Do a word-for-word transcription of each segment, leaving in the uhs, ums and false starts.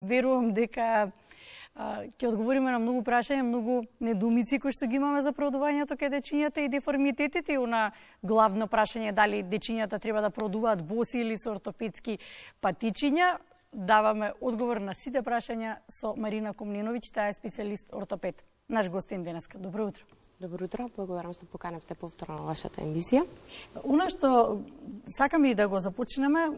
верувам дека ќе одговориме на многу прашања, многу недоумици кои што ги имаме за продувањето кај дечињата и деформитетите, и она главно прашање дали дечињата треба да продуваат боси или со ортопедски патичиња. Даваме одговор на сите прашања со Марина Комненовиќ, таа е специјалист ортопед. Наш гостин денеска. Добро утро. Добро утро, благодарам што поканевте повторно на вашата емисија. Она што сакаме и да го започнеме,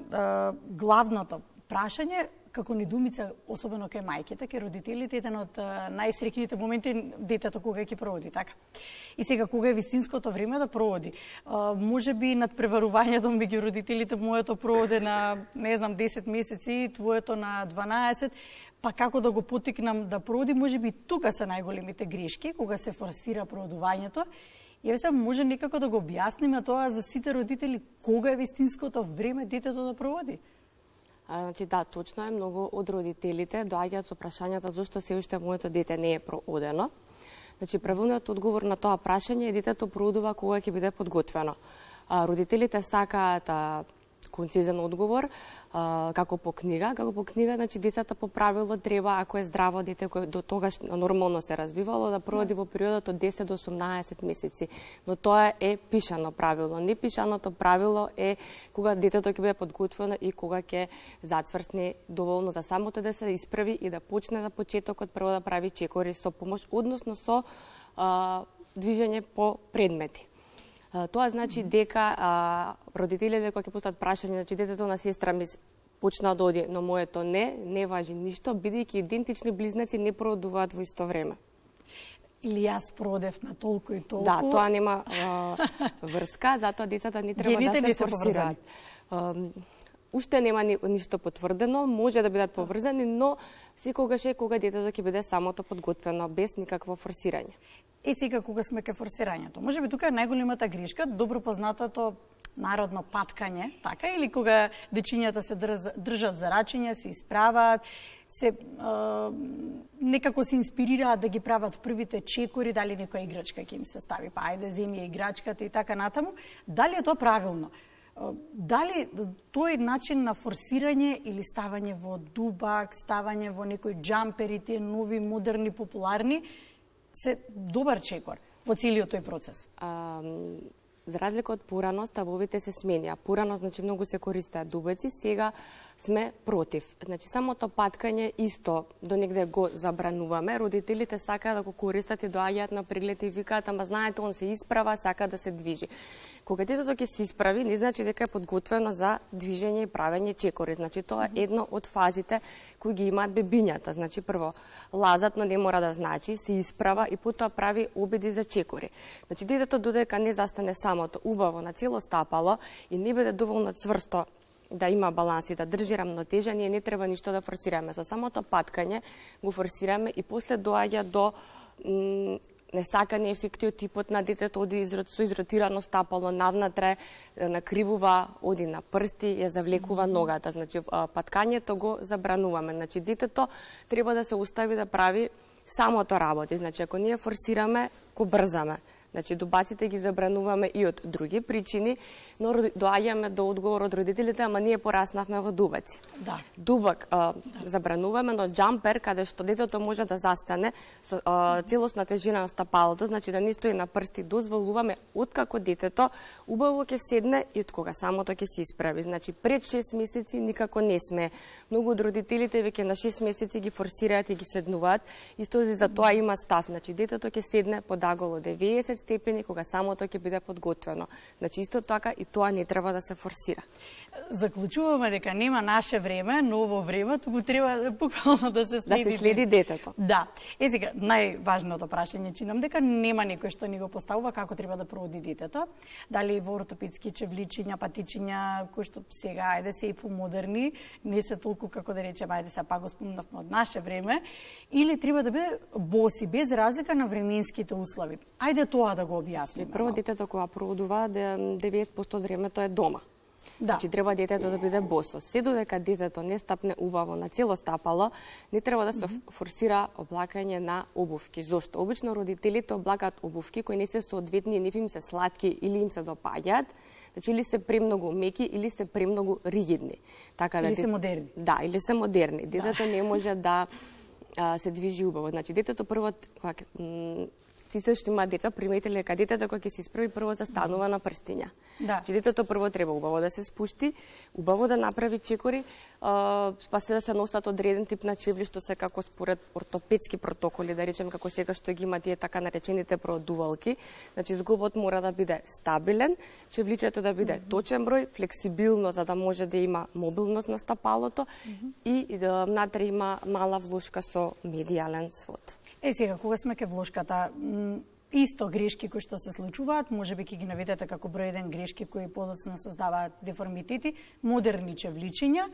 главното прашање, како недумица, особено кај мајките, кај родителите, еден од најсреќните моменти детето кога ќе проводи, така. И сега, кога е вистинското време да проводи? Може би надпреварувањето меѓу родителите, моето проводе на, не знам, десет месеци, твоето на дванаесет, па како да го потикнам да проводи, може би тука се најголемите грешки, кога се форсира проводувањето. И се може некако да го објасниме тоа за сите родители, кога е вистинското време детето да проводи? Значи, да, точно е, многу од родителите доаѓаат со прашањата зашто се уште моето дете не е проодено. Значи, правилниот одговор на тоа прашање е детето проодува кога ќе биде подготвено. А, родителите сакаат а, концизен одговор, а, како по книга. Како по книга, значи, децата по правило треба, ако е здраво дете, кој до тогаш нормално се развивало, да проводи во периодот од десет до осумнаесет месеци. Но тоа е пишано правило. Непишаното правило е кога детето ќе биде подготвено и кога ќе зацврсне доволно за самото да се исправи и да почне за почетокот прво да прави чекори со помош, односно со а, движење по предмети. Тоа значи дека а, родителите кога ќе постават прашање, значи детето на сестра ми почна да оди, но моето не, не важи ништо, бидејќи идентични близнаци не проводуваат во исто време. Или јас проводев на толку и толку. Да, тоа нема а, врска, затоа децата не треба Гените да се форсираат. Уште нема ни, ништо потврдено, може да бидат поврзани, но секогаш е кога детето ќе биде самото подготвено, без никакво форсирање. И сега кога сме кај форсирањето, може би тука е најголемата грешка, добро познатото народно паткање, така, или кога дечињата се држат за рачиња, се исправаат, се е, некако се инспирираат да ги прават првите чекори, дали некоја играчка ќе им се стави, па ајде земи играчката и така натаму. Дали е тоа правилно? Дали тој начин на форсирање или ставање во дубак, ставање во некој џампери, тие нови, модерни, популарни, се добар чекор во целиот тој процес? А, за разлика од порано, ставовите се сменија. Порано, значи, многу се користеа дубеци, сега сме против. Значи, самото паткање исто до негде го забрануваме. Родителите сакаат да го користат и доаѓаат на преглед и викаат, ама знаете, он се исправа, сака да се движи. Кога детето ќе се исправи, не значи дека е подготвено за движење и правење чекори. Значи, тоа е едно од фазите кои ги имаат бебињата. Значи, прво, лазат, но не мора да значи, се исправа и потоа прави обиди за чекори. Значи, детето додека не застане самото, убаво на цело стапало и не биде доволно цврсто да има баланс и да држи рамнотежа, ние не треба ништо да форсираме. Со самото паткање го форсираме и после доаѓа до несакани ефекти од типот на детето, оди со изротирано стапало навнатре, накривува, оди на прсти, ја завлекува ногата. Значи, паткањето го забрануваме. Значи, детето треба да се остави да прави самото работи. Значи, ако ние форсираме, го брзаме. Значи, дубаците ги забрануваме и од други причини, но доаѓаме до одговор од родителите, ама ние пораснавме во дубаци. Да. Дубак а, да. забрануваме, но џампер, каде што детето може да застане со а, целосна тежина на стапалото, значи да не стои на прсти, дозволуваме откако детето убаво ќе седне и од кога самото ќе се исправи. Значи, пред шест месеци никако не сме. Многу од родителите веќе на шест месеци ги форсираат и ги седнуваат, исто за тоа има став. Значи, детето ќе седне под аголо деветдесет степени кога самото ќе биде подготвено. Значи, исто така и тоа не треба да се форсира. Заклучуваме дека нема наше време, ново време, туку треба буквално да се следи. Да се следи детето. Да. Е сега, најважното прашање чинам дека нема некој што ни го поставува како треба да проводи детето. Дали во ортопедски чевличиња, патичиња, кои што сега, ајде се и помодерни, не се толку како да речеме, ајде се пак го спомнавме од наше време, или треба да биде боси, без разлика на временските услови. Ајде тоа да го објасниме. Прво, детето кога проводува, деветдесет проценти од времето е дома. Да. Значи, треба детето да биде босо. Се додека детето не стапне убаво на цело стапало, не треба да се mm -hmm. форсира облакање на обувки. Зошто? Обично родителите облакаат обувки кои не се соодветни, не им се сладки или им се допаѓаат. Значи или се премногу меки или се премногу ригидни. Така да или се модерни. Да, или се модерни. Детето да. не може да а, се движи убаво. Значи детето прво сите што има деца приметиле дека детето кога ќе се исправи прво застанува на прстиња. Да. Че детето прво треба убаво да се спушти, убаво да направи чекори, а, па се да се носат одреден тип на чевли што се како според ортопедски протоколи, да речем како сега што ги има тие така наречените продувалки. Значи зглобот мора да биде стабилен, чевличето да биде точен број, флексибилно за да може да има мобилност на стапалото mm -hmm. и да внатре има мала влошка со медијален свод. Е, сега, кога сме ке влошката, исто грешки кои што се случуваат, може би ќе ги наведете како број еден грешки кои подоцна создаваат деформитети, модерни чевличиња,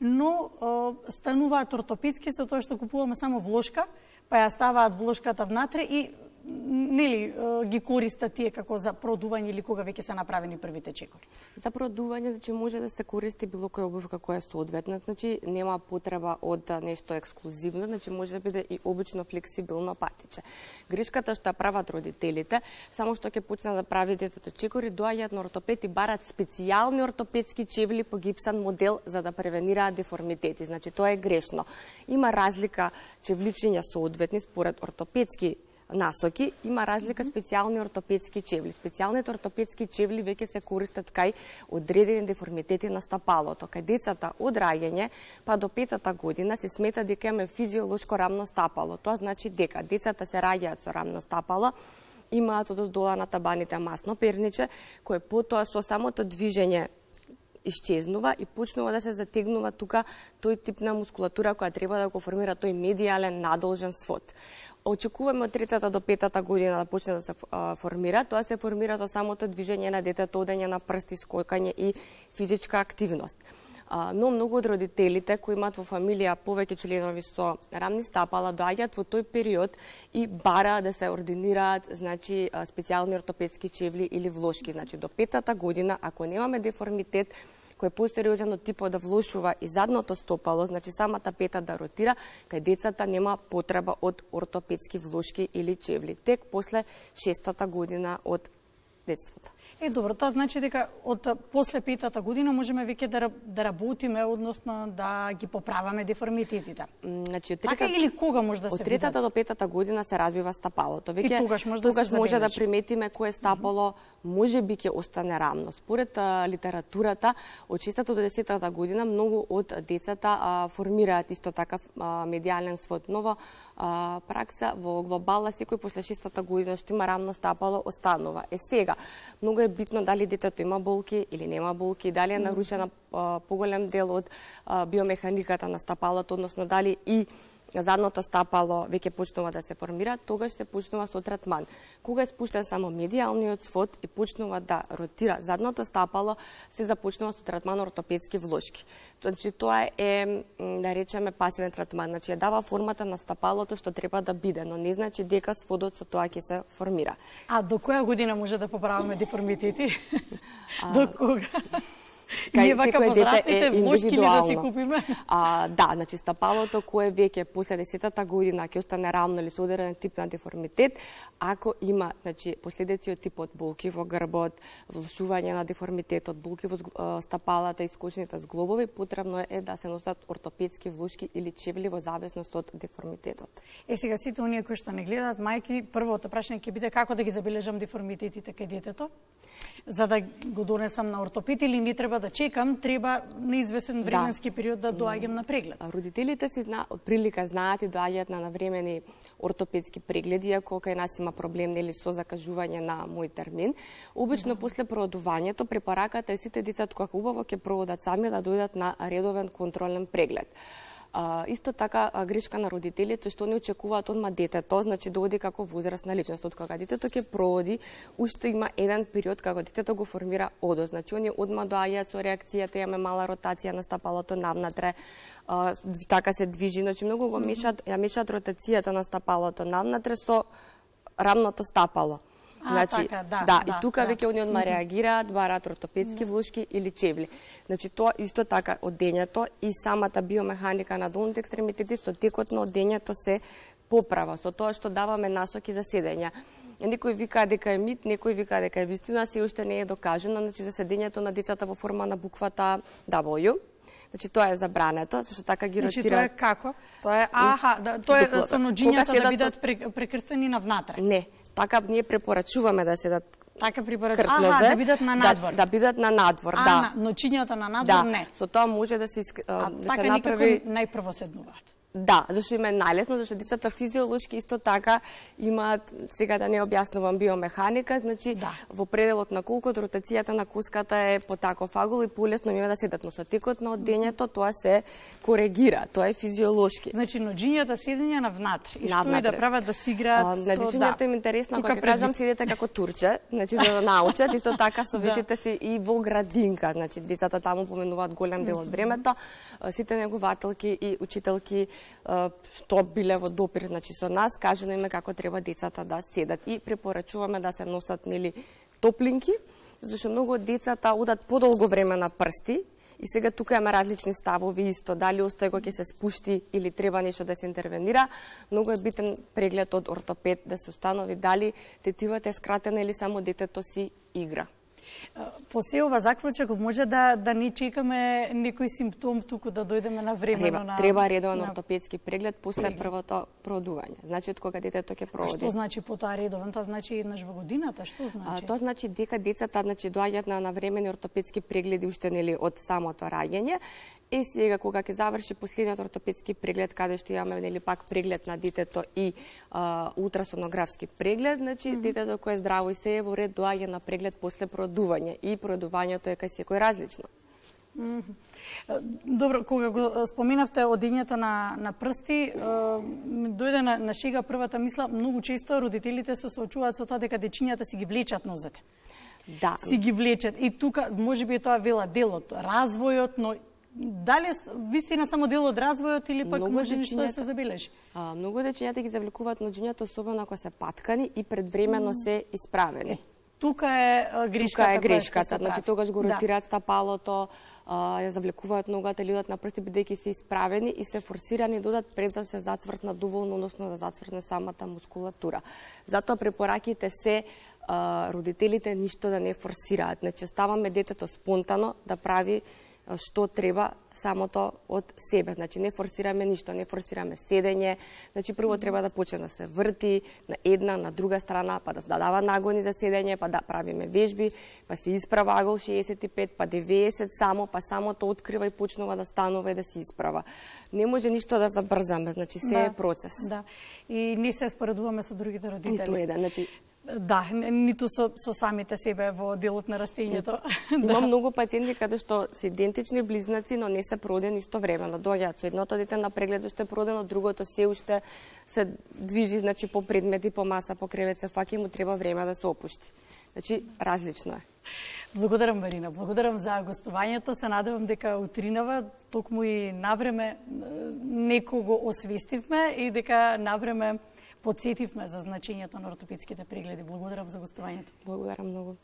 но е, стануваат ортопедски со тоа што купуваме само влошка, па ја ставаат влошката внатре и нели ги користат тие како за продување или кога веќе се направени првите чекори. За продување, значи може да се користи било која обувка која е соодветна, значи нема потреба од нешто ексклузивно, значи може да биде и обично флексибилно патиче. Грешката што прават родителите, само што ќе почнат да прави детето чекори, доаѓаат на ортопед и барат специјални ортопедски чевли по гипсан модел за да превенираат деформитети. Значи тоа е грешно. Има разлика чевличиња соодветни според ортопедски насоки, има разлика специјални ортопедски чевли. Специјалните ортопедски чевли веќе се користат кај одредени деформитети на стапалото. Кај децата од раѓање па до петата година се смета дека има физиолошко рамно стапало. Тоа значи дека децата се раѓаат со рамно стапало, имаат одоздола на табаните масно перниче, кое потоа со самото движење исчезнува и почнува да се затегнува тука тој тип на мускулатура која треба да го формира тој медијален надолжен свод. Очекуваме од третата до петата година да почне да се формира. Тоа се формира со самото движење на детето, одење на прсти, скокање и физичка активност. Но многу од родителите кои имаат во фамилија повеќе членови со рамни стапала доаѓаат во тој период и бара да се ординираат, значи специјални ортопедски чевли или влошки. Значи до петата година ако немаме деформитет кој е посериозен од типот да влошува и задното стопало, значи самата пета да ротира, кај децата нема потреба од ортопедски влошки или чевли. Тек после шестата година од детството. Е, добро, тоа значи дека од после петата година можеме веќе да, да работиме, односно да ги поправаме деформитетите. Значи, од така или кога може да се од третата до петата година се развива стапалото. Веќе и тогаш може тогаш да се може да приметиме кое стапало може би ќе остане рамно. Според а, литературата, од шестата до десетата година многу од децата а, формираат исто така а, медијален свод. Нова а, пракса во глобала секој после шестата година што има рамно стапало останува. Е сега, многу е битно дали детето има болки или нема болки, дали е нарушена а, поголем дел од а, биомеханиката на стапалото, односно дали и задното стапало веќе почнува да се формира, тогаш се почнува со третман. Кога е спуштен само медијалниот свод и почнува да ротира задното стапало, се започнува со третман ортопедски влошки. Значи тоа е, да речеме, пасивен третман, значи ја дава формата на стапалото што треба да биде, но не значи дека сводот со тоа ќе се формира. А до која година може да поправиме деформитети? А... До кога? Кај вака возрастните влошки ли да си купиме? А, да, значи стапалото кое веќе после десетата година ќе остане рамно или со одреден тип на деформитет, ако има, значи, последици од типот болки во грбот, влошување на деформитетот, болки во стапалата и скочните зглобови, потребно е да се носат ортопедски влошки или чевли во зависност од деформитетот. Е, сега сите оние кои што не гледаат, мајки, првото прашање ќе биде како да ги забележам деформитетите кај детето, за да го донесам на ортопед или не треба да чекам, треба неизвестен временски да. период да доаѓам на преглед. Родителите си зна, од прилика знаат и доаѓаат на навремени ортопедски прегледи, ако кај нас има проблем нели со закажување на мој термин. Обично да. после проодувањето препораката е сите деца кога убаво ќе проодат сами да дојдат на редовен контролен преглед. А, исто така а, грешка на родителите што не очекуваат одма детето, значи да оди како возрастна личност. Од кога детето ќе прооди, уште има еден период кога детето го формира одос. Значи они одма доаѓаат со реакцијата, имаме мала ротација на стапалото навнатре, а, така се движи, значи многу го мешат, ја мешат ротацијата на стапалото навнатре со рамното стапало. А, значи, така, да, да, да, и тука да. веќе они одма реагираат, бараат ортопедски влошки или чевли. Значи тоа исто така одењето и самата биомеханика на долните екстремитети со текот на одењето се поправа со тоа што даваме насоки за седење. Некој вика дека е мит, некој вика дека е вистина, се уште не е докажано, значи за седењето на децата во форма на буквата W. Значи тоа е забрането, зашто така ги значи, ротира. Значи тоа е како? Тоа е аха, да, тоа е со ноџињата да бидат со... прекрстени навнатре. Не, така ние препорачуваме да седат така препорачуваме, аха, да бидат на надвор. Да, да бидат на надвор, а, да. На, ноќињата на надвор да. не. Со тоа може да се а, да така се направи никако најпрво седнуваат. Да, зашто им е најлесно, зашто децата физиолошки исто така имаат, сега да не објаснувам биомеханика, значи да. Во пределот на колкот ротацијата на куската е по таков агол и полесно има да седат, но со текот на одењето тоа се коригира, тоа е физиолошки. Значи ноџињата седење навнатре и што и да прават да си играат со ноџињата им интересно, кога кажам седите како турче, значи за да научат, исто така советите се и во градинка, значи децата таму поменуваат голем дел од времето, сите негователки и учителки што биле во допир, значи со нас, кажано име како треба децата да седат и препорачуваме да се носат нели топлинки, зашто многу од децата одат подолго време на прсти и сега тука има различни ставови исто, дали остај кога ќе се спушти или треба нешто да се интервенира. Многу е битен преглед од ортопед да се установи дали тетивата е скратена или само детето си игра. По се ова заклучок може да да не чекаме некој симптом туку да дојдеме на време треба, на треба редовен на... ортопедски преглед после преглед. првото продување. Значи од кога детето ќе проводи. Што значи потоа редовен? Тоа значи еднаш во годината, што значи? А, тоа значи дека децата значи доаѓаат на навремени ортопедски прегледи уште нели од самото раѓање. Е сега кога ќе заврши последниот ортопедски преглед каде што имаме нели пак преглед на детето и а, ултрасонографски преглед, значи mm -hmm. детето кое е здраво и се е во ред доаѓа на преглед после продување и продувањето е кај секој различно. Mm -hmm. Добро, кога го споменавте одењето на на прсти, дојде на, на шега првата мисла, многу често родителите се соочуваат со тоа дека дечињата си ги влечат нозете. Да. Си ги влечат и тука можеби тоа вела дел од развојот, но дали вистина само дел од развојот или пак може нешто да се забележи? А, многу дечињата ги завлекуваат ноџињата, особено ако се паткани и предвремено mm. се исправени. Е, тука е грешката. Тука е грешката, значи тогаш го ротираат да. стапалото, а, ја завлекуваат ногата или одат на прсти бидејќи се исправени и се форсирани додат пред да се зацвртна доволно, односно да зацвртне самата мускулатура. Затоа препораките се а, родителите ништо да не форсираат. Значи оставаме детето спонтано да прави што треба самото од себе. Значи не форсираме ништо, не форсираме седење. Значи прво треба да почне да се врти на една, на друга страна, па да дава нагони за седење, па да правиме вежби, па се исправа агол шеесет и пет, па деветдесет само, па само тоа открива и почнува да станува и да се исправа. Не може ништо да забрзаме, значи се да, е процес. Да. И не се споредуваме со другите родители. Ниту еден, значи да, ниту со, со самите себе во делот на растењето. Има да. Многу пациенти каде што се идентични близнаци, но не се породени истовремено. Доаѓаат со едното дете на преглед што е породено, другото се уште се движи, значи по предмети, по маса, по кревет се фаќа, му треба време да се опушти. Значи различно е. Благодарам, Марина. Благодарам за гостувањето. Се надевам дека утринава токму и навреме некого освестивме и дека навреме подсетивме за значењето на ортопедските прегледи. Благодарам за гостувањето. Благодарам многу.